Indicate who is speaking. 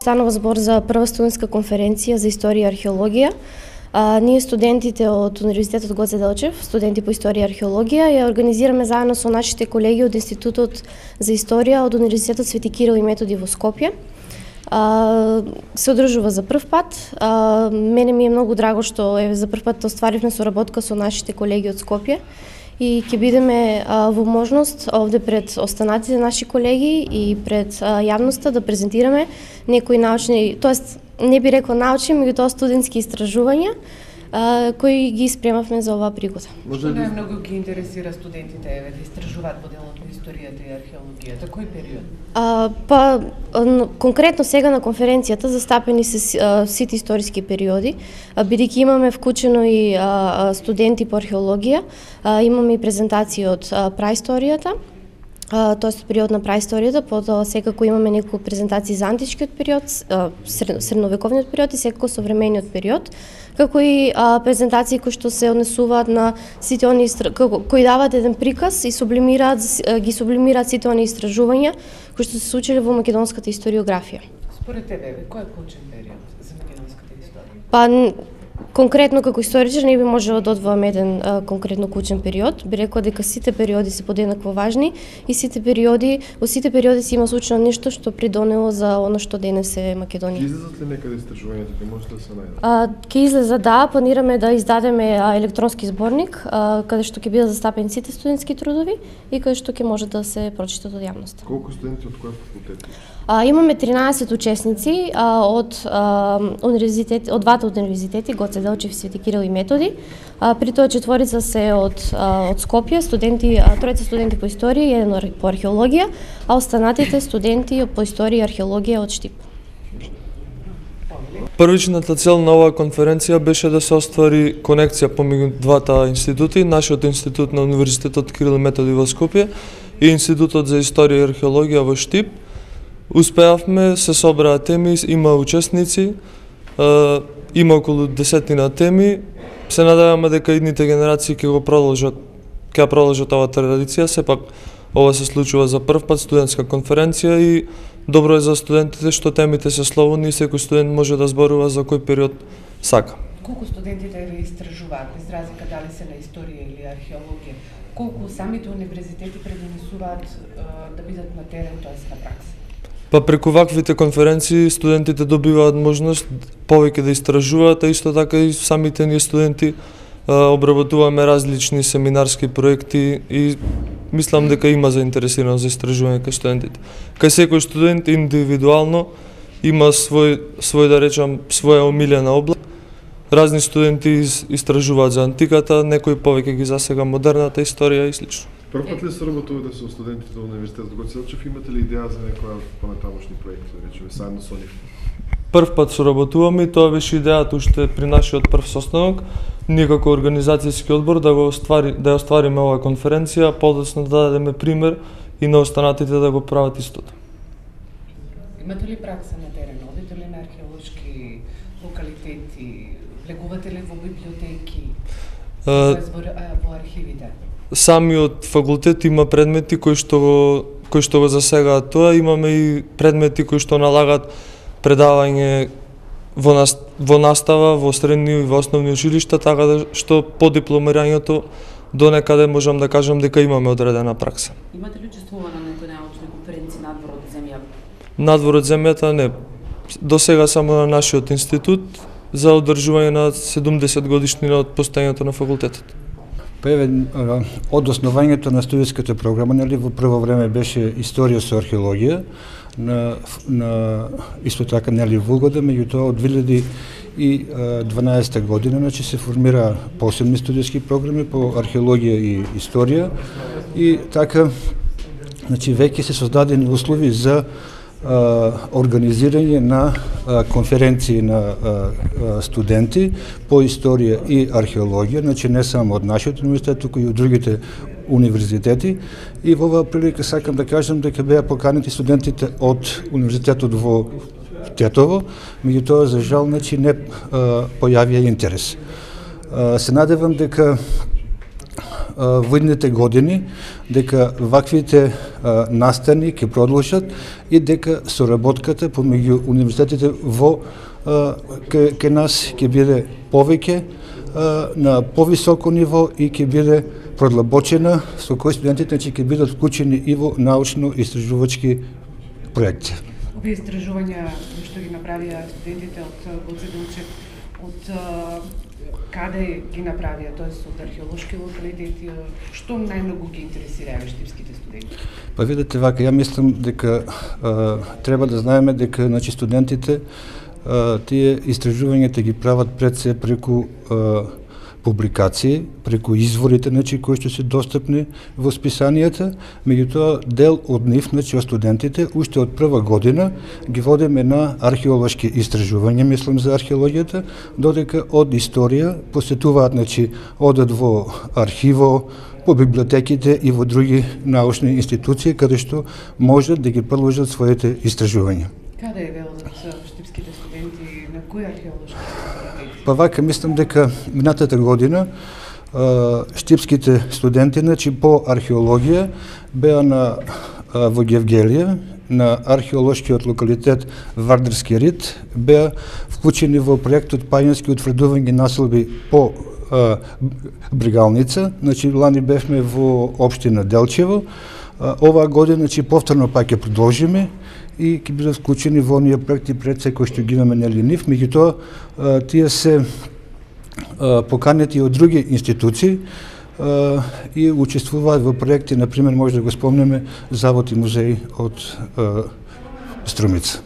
Speaker 1: станува збор за прва студентска конференција за историја и археологија. Ние студентите од Универзитетот Гоце Делчев, студенти по историја и археологија, ја организираме заедно со нашите колеги од Институтот за историја од Универзитетот Свети Кирил и Методи во Скопје. Се одржува за прв пат. Мене ми е многу драго што за прв пат остваривме соработка со нашите колеги од Скопје и ќе бидеме во можност овде пред останатите наши колеги и пред јавноста да презентираме некои научни, тоест не би рекла научни, меѓутоа студентски истражувања кои ги спремавме за оваа пригода.
Speaker 2: Што најмногу ги интересира студентите да истражуваат во делот на историјата и археологијата? Кој период?
Speaker 1: Конкретно сега на конференцијата застапени се сите историски периоди, бидејќи имаме вклучено и студенти по археологија, имаме и презентации од праисторијата, тоест период на праисторијата, потоа секако имаме неколку презентации за античкиот период, средновековниот период и секако современиот период, како и презентации кои што се однесуваат на сите они кои даваат еден приказ и ги сублимираат сите они истражувања кои што се случиле во македонската историографија.
Speaker 2: Според тебе, кој е клучен период за македонската историја?
Speaker 1: Конкретно како историчар не би можела да одвоам еден конкретно клучен период, би рекла дека сите периоди се подеднакво важни и во сите периоди се има случено нешто што придонело за она што денес е Македонија.
Speaker 3: Ќе излезат ли некаде истражувањата, ќе може да се најдат?
Speaker 1: Ќе излеза, да, планираме да издадеме електронски зборник каде што ќе бидат застапени сите студентски трудови и каде што ќе може да се прочитат од јавноста.
Speaker 3: Колку студенти од кои факултети?
Speaker 1: Имаме 13 учесници од двата универзитети, Гоце Делчев, Свети Кирил и Методи. При тоа четворица се од Скопје, тројца студенти по историја и еден по археологија, а останатите студенти по историја и археологија од Штип.
Speaker 4: Првичната цел на оваа конференција беше да се оствари конекција помеѓу двата институти, нашиот институт на Универзитетот Кирил и Методи во Скопје и Институтот за историја и археологија во Штип. Успеавме, се собраа теми, има учесници, има околу 10 теми. Се надеваме дека идните генерации ќе продолжат оваа традиција. Сепак ова се случува за прв пат студентска конференција и добро е за студентите што темите се слободни и секој студент може да зборува за кој период сака.
Speaker 2: Колку студентите ве истражуваат, без разлика дали се на историја или археологија? Колку самите универзитети предонесуваат да бидат на терен, тоест на пракса?
Speaker 4: Преку ваквите конференции студентите добиваат можност повеќе да истражуваат, а исто така и самите ние студенти обработуваме различни семинарски проекти и мислам дека има заинтересираност за истражување кај студентите. Кај секој студент индивидуално има своја омилена област. Разни студенти истражуваат за антиката, некои повеќе ги засега модерната историја и слично.
Speaker 3: Прв пат ли соработувате со студентите од Универзитетот Гоце Делчев? Имате ли идеја за некоја понатамошни проекти, да речеме, заедно со нив?
Speaker 4: Прв пат соработуваме и тоа беше идејата уште при нашиот прв состанок. Ние како организацијски одбор да ја оствариме оваа конференција, подоцна да дадеме пример и на останатите да го прават истото.
Speaker 2: Имате ли пракса на терен? Одите ли на археолошки локалитети? Влегувате ли во библиотеки? Во архивите?
Speaker 4: Самиот факултет има предмети кои што го засегаат тоа, имаме и предмети кои што налагаат предавање во настава, во средни и во основни училишта, така да што по дипломирањето до некаде можам да кажам дека имаме одредена пракса.
Speaker 5: Имате ли учествувано на некои научни конференции надвор од земјата?
Speaker 4: Надвор од земјата не. До сега само на нашиот институт за одржување на 70 годишнина од постојањето на факултетот.
Speaker 6: Од основањето на студентската програма, во прво време беше историја со археологија, исто така Вулгода, меѓутоа од 2012 година се формира посебни студентски програми по археологија и историја и така веќе се создадени услови за организирање на конференции на студенти по историја и археологија, не само од нашиот универзитет, туку и од другите универзитети. И во оваа прилика сакам да кажам дека беа поканети студентите од универзитетот во Тетово, меѓутоа за жал не појавија интерес. Се надевам дека во идните години дека ваквите настани ќе продолжат и дека соработката помеѓу универзитетите во кај нас ќе биде повеќе на повисоко ниво и ќе биде продлабочена, со кој студентите ќе бидат вклучени и во научно-истражувачки проекти.
Speaker 2: Овие истражувања што ги направија студентите од Гоце Делчев, од каде ги направија, тоест од археолошки локалитети, што најмногу ги интересира штипските студенти?
Speaker 6: Па видите вака, ја мислам дека треба да знаеме дека значи студентите тие истражувањата ги прават пред се преку публикации, преку изворите значи кои што се достапни во списанијата, меѓутоа дел од нив, значи од студентите, уште од прва година ги водиме на археолошки истражувања, мислам за археологијата, додека од историја посетуваат, значи одат во архиво, по библиотеките и во други научни институции каде што можат да ги продолжат своите истражувања.
Speaker 2: Каде е велот штипските студенти, на кои археолошки локалитети?
Speaker 6: Па вака, мислам дека минатата година штипските студенти, значи по археологија, беа во Гевгелија, на археолошкиот локалитет Вардарски рид, беа вклучени во проектот Пајански утврдување населби по Бригалница, значи лани бевме во општина Делчево, оваа година, значи повторно пак ќе продолжиме и ќе бидат вклучени во оние проекти пред се кои што ги имаме нели нив, меѓутоа тие се поканети од други институции и учествуваат во проекти, например, може да го спомнеме Завод и музеј од Струмица.